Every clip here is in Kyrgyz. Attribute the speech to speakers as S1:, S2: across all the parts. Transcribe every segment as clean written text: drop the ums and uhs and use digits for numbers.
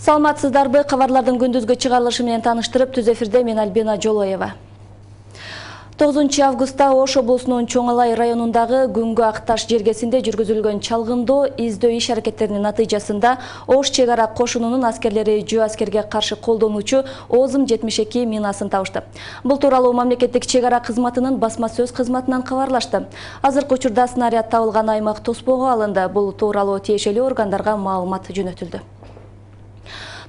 S1: Саламатсыздарбы, кабарлардын күндүзгү чыгарылышы менен таныштырып, түз эфирде мен Альбина Жолоева. 9 августта Ош облусунун Чоңалай районундагы Күнгө Акташ жергесинде жүргүзүлгөн чалгындоо издөө иш аракеттеринин натыйжасында Ош чек ара кошунунун аскерлери жөө аскерге каршы колдонуучу Озым 72 минасын табышты. Бул тууралуу мамлекеттик чек ара кызматынын басма сөз кызматынан кабарлашты. Азыркы учурда снаряд табылган аймак тоспого алынды. Бул тууралуу тиешелүү органдарга маалымат жөнөтүлдү.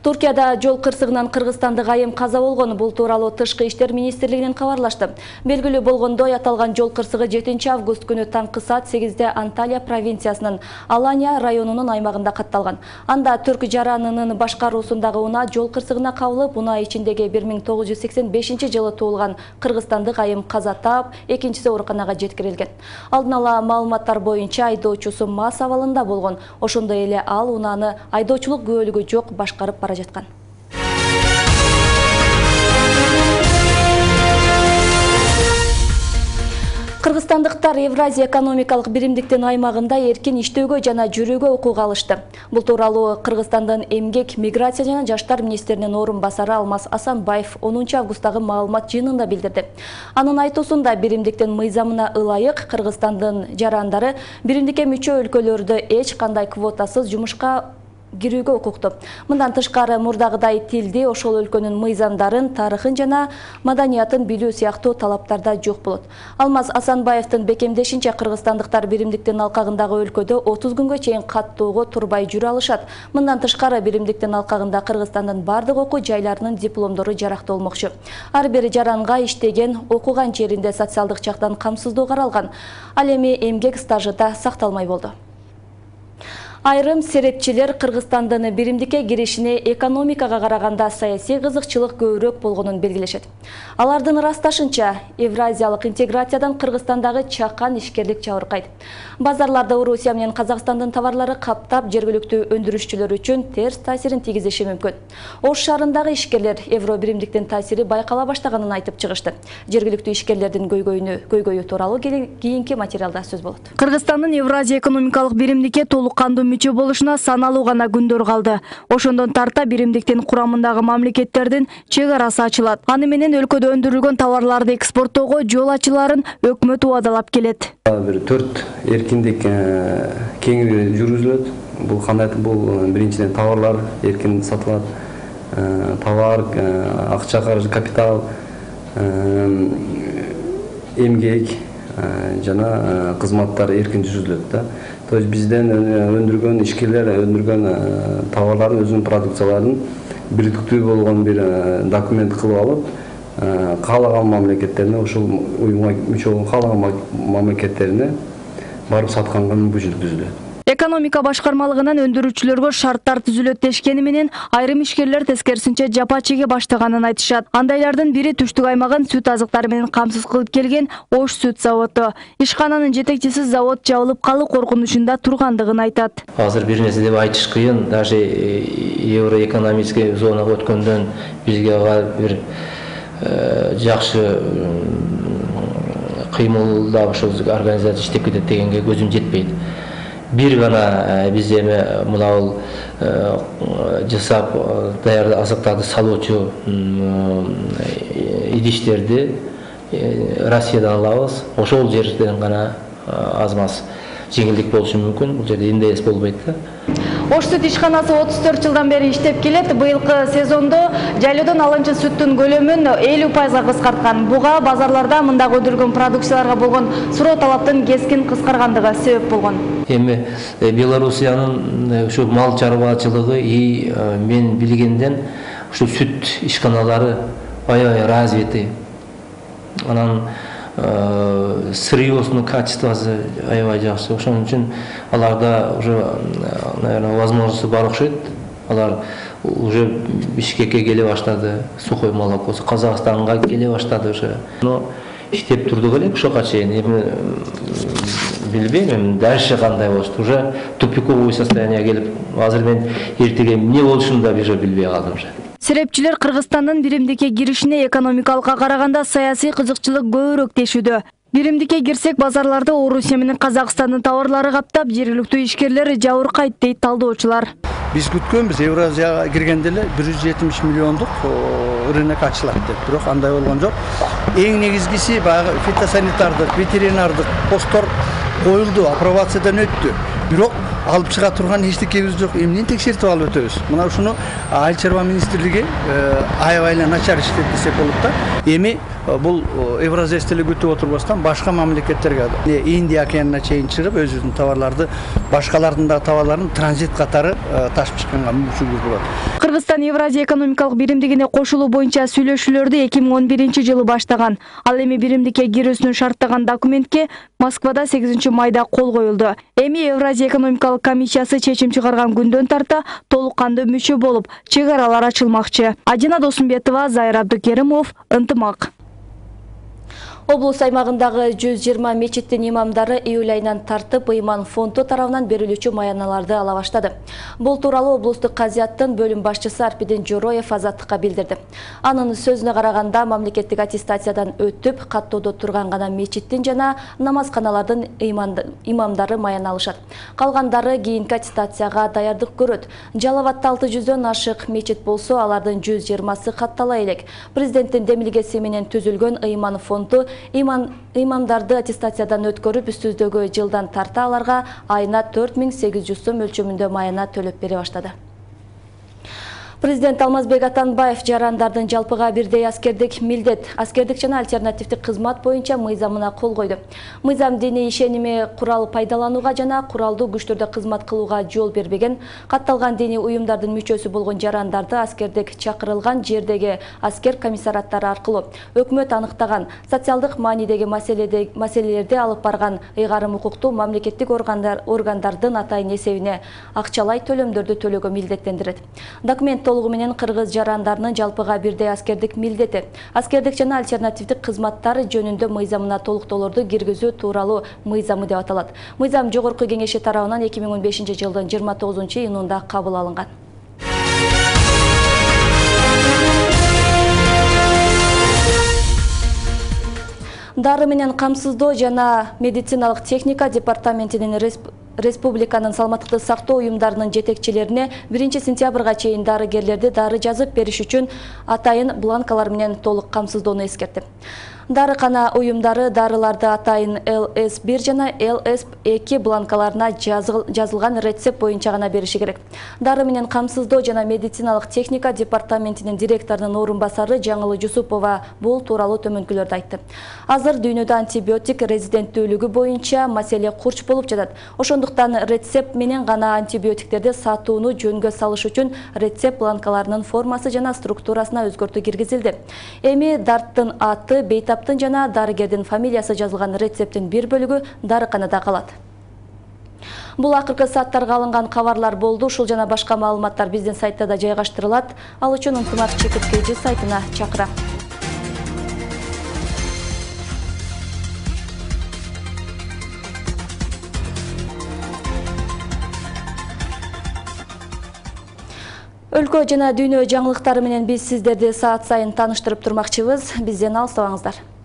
S1: Туркияда жол кырсыгынан кыргызстандык айым каза болгон. Бул тууралуу Тышкы иштер министрлигинен кабарлашты. Белгилүү болгондой, аталган жол кырсыгы 7 август күнү таңкы саат 8-де Анталия провинциясынын Алания районунун аймагында катталган. Анда Түрк жаранынын башкаруусундагы унаа жол кырсыгына кабылып, унаа ичиндеги 1985-жылы туулган кыргызстандык айым каза таап, экинчиси ооруканага жеткирилген. Алдын ала маалыматтар боюнча айдоочусу мас абалында болгон. Ошондой эле ал унааны айдоочулук күбөлүгү жок башкарып бара жаткан. Кыргызстандыктар Евразия экономикалык биримдиктин аймагында эркин иштөөгө жана жүрүүгө укук алышты. Бул тууралуу Кыргызстандын эмгек, миграция жана жаштар министринин орун басары Алмаз Асанбаев 10 августтагы маалымат жыйынында билдирди. Анын айтуусунда биримдиктин мыйзамына ылайык Кыргызстандын жарандары биримдикке мүчө өлкөлөрдө эч кандай квотасыз жумушка кирүүгө укуктуу. Мындан тышкары мурдагыдай тилди, ошол өлкөнүн мыйзамдарын, тарыхын жана маданиятын билүү сыяктуу талаптарда жок болот. Алмаз Асанбаевдин бекемдешинче, кыргызстандыктар биримдиктин алкагындагы өлкөдө 30 күнгө чейин каттоого турбай жүрө алышат. Мындан тышкары биримдиктин алкагында Кыргызстандын бардык окуу жайларынын дипломдору жаракталмакчы. Ар бир жаранга иштеген, окуган жеринде социалдык жактан камсыздоо каралган. Ал эми эмгек стажы да сакталмай болду. Айрым серепчилер Кыргызстандын биримдикке киришине экономикага караганда саясий кызыкчылык көбүрөөк болгонун белгилешет. Алардын ырасташынча, евразиялык интеграциядан Кыргызстандагы чакан ишкерлик жабыркайт. Базарларда Орусия менен Казакстандын товарлары каптап, жергиликтүү өндүрүшчүлөр үчүн терс таасирин тийгизиши мүмкүн. Ош шаарындагы ишкерлер евро биримдиктин таасири байкала баштаганын айтып чыгышты. Жергиликтүү ишкерлердин көйгөйү тууралуу кийинки материалда сөз болот.
S2: Кыргызстандын Евразия экономикалык биримдикке толук кандуу мүчө болушуна саналуу гана күндөр калды. Ошондон тарта биримдиктин курамындагы мамлекеттердин чек арасы ачылат. Аны менен өлкөдө өндүрүлгөн товарларды экспорттоого жол ачыларын өкмөт убадалап келет.
S3: Бир 4 эркиндик кеңири жүргүзүлөт. Бул кандай? Бул биринчиден товарлар эркин сатылат. Товар, акча каражы, капитал, эмгек жана кызматтар эркин жүргүзүлөт да. То есть бизден өндүргөн ишкерлер өндүргөн товарларын, өзүнүн продукцияларын бирдиктүү болгон бир документ кылып алып, каалаган мамлекеттерине, ушул уюмга мүчө болгон каалаган мамлекеттерине барып сатканга мүмкүнчүлүк түзүлөт.
S2: Экономика башкармалыгынан өндүрүүчүлөргө шарттар түзүлөт дешкени менен айрым ишкерлер тескерисинче жапа чеге баштаганын айтышат. Андайлардын бири түштүк аймагын сүт азыктары менен камсыз кылып келген Ош сүт заводу. Ишкананын жетекчиси завод жабылып калуу коркунучунда тургандыгын айтат.
S4: Азыр бир нерсе деп айтыш кыйын. Даже евроэкономический зонага өткөндөн бизге бир жакшы кыймылда ошол организация иштеп кетет дегенге көзүм жетпейт. Бир гана биз эми мынабул жасап даярдап азыктарды салуучу идиштерди Россиядан алабыз. Ошол жерден гана аз-маз жеңилдик болушу мүмкүн. Бул жерде эмне болбойт да.
S2: Ош сүт ишканасы 34 жылдан бери иштеп келет. Быйылкы сезондо жайлоодон алынчы сүттүн көлөмүн 50%га кыскарткан. Буга базарларда мындагы өндүрүлгөн продукцияларга болгон суроо талаптын кескин кыскаргандыгы себеп болгон.
S4: Эми Белоруссиянын ушу мал чарбачылыгы мен билгенден ушу сүт ишканалары аябай развиты. Анан сырьёсунун качествосу аябай жакшы. Ошон үчүн аларда уже, наверное, возможности бар окшойт. Алар уже Бишкекке келе баштады, сухой молокосу, Казакстанга келе баштады уже. Но иштеп турдук элек ошого чейин. Эми билбейм, дальше кандай болушту. Уже тупиковый состояние келип, азыр мен эртеге эмне болушун да билбей калдым уже.
S2: Серепчилер Кыргызстандын биримдикке киришине экономикалыкка караганда саясий кызыкчылык көбүрөөк дешүүдө. Биримдикке кирсек, базарларды Орусия менен Казакстандын товарлары каптап, жергиликтүү ишкерлер жабыркайт дейт талдоочулар.
S5: Биз күткөнбүз Евразияга киргенде эле 170 миллиондук рынок ачылат деп, бирок андай болгон жок. Эң негизгиси баягы фитосанитардык, ветеринардык посттор коюлду, апробациядан өттү. Бирок алып чыга турган эчтекебиз жок. Эмнени текшертип алып өтөбүз? Мына ушуну Айыл чарба министрлиги аябай эле начар иштеп десек болот да. Эми бул Евразия эле күтүп отурбастан башка мамлекеттерге, Индия океанына чейин чыгып, өзүнүн товарларды, башкалардын да товарларын транзит катары ташып чыкканга мүмкүнчүлүк болот.
S2: Кыргызстан Евразия экономикалык биримдигине кошулуу боюнча сүйлөшүүлөрдү 2011-жылы баштаган. Ал эми биримдикке кирүүсүн шарттаган документке Москвада 8 майда кол коюлду. Эми Евразия экономикалык комиссиясы чечим чыгарган күндөн тарта толук кандуу мүчө болуп, чек аралар ачылмакчы. Адина Досумбетова, Зайыр Абдукеримов, Ынтымак.
S1: Облус аймагындагы 120 мечиттин имамдары июль айынан тартып ыйман фонду тарабынан берилүүчү маяналарды ала баштады. Бул тууралуу облустук казияттын бөлүм башчысы Арпидин Жороев Азаттыкка билдирди. Анын сөзүнө караганда, мамлекеттик аттестациядан өтүп, каттоодо турган гана мечиттин жана намазканалардын имамдары маяна алышат. Калгандары кийинки аттестацияга даярдык көрөт. Жалал Абадта 600дөн ашык мечит болсо, алардын 120сы каттала элек. Президенттин демилгеси менен түзүлгөн ыйман фонду имамдарды аттестациядан өткөрүп, үстүздөгү жылдан тарта аларга айына 4800 сом өлчөмүндө маяна төлөп бере баштады. Президент Алмазбек Атамбаев жарандардын жалпыга бирдей аскердик жана альтернативдик кызмат боюнча мыйзамына кол койду. Мыйзам диний ишеними курал пайдаланууга жана куралдуу күчтөрдө кызмат кылууга жол бербеген, катталган диний уюмдардын мүчөсү болгон жарандарды аскердик чакырылган жердеги аскер комиссараттары аркылуу өкмөт аныктаган социалдык маанидеги маселелерди алып барган ыйгарым укуктуу мамлекеттик органдардын атайын эсебине акчалай төлөмдөрдү төлөөгө милдеттендирет. Документ толугу менен кыргыз жарандарынын жалпыга бирдей аскердик милдети, аскердик жана альтернативдик кызматтары жөнүндө мыйзамына толуктоолорду киргизүү тууралуу мыйзамы деп аталат. Мыйзам Жогорку Кеңеши тарабынан 2015-жылдын 29-июнунда кабыл алынган. Дары менен камсыздоо жана медициналык техника департаментинин республиканын саламаттыкты сактоо уюмдарынын жетекчилерине 1 сентябрга чейин дарыгерлерди дары жазып бериш үчүн атайын бланкалар менен толук камсыздоону эскертти. Дарыкана уюмдары дарыларды атайын ЛС1 жана ЛС2 бланкаларына жазылган рецепт боюнча гана бериши керек. Дары менен камсыздоо жана медициналык техника департаментинин директорунун орун басары Жаңылы Жусупова бул тууралуу төмөнкүлөрдү айтты. Азыр дүйнөдө антибиотик резиденттүүлүгү боюнча маселе курч болуп жатат. Ошондуктан рецепт менен гана антибиотиктерди сатууну жөнгө салыш үчүн рецепт бланкаларынын формасы жана структурасына өзгөртүү киргизилди. Эми дарттын аты, бейтап жана дарыгердин фамилиясы жазылган рецепттин бир бөлүгү дарыканада калат. Бул акыркы сааттарга алынган кабарлар болду. Ушул жана башка маалыматтар биздин сайтта да жайгаштырылат. Ал үчүн Ынтымак ЧКТ сайтына чакырам. Өлкө жана дүйнө жаңылыктары менен биз сиздерди саат сайын тааныштырып турмакчыбыз. Бизден алыстабаңыздар.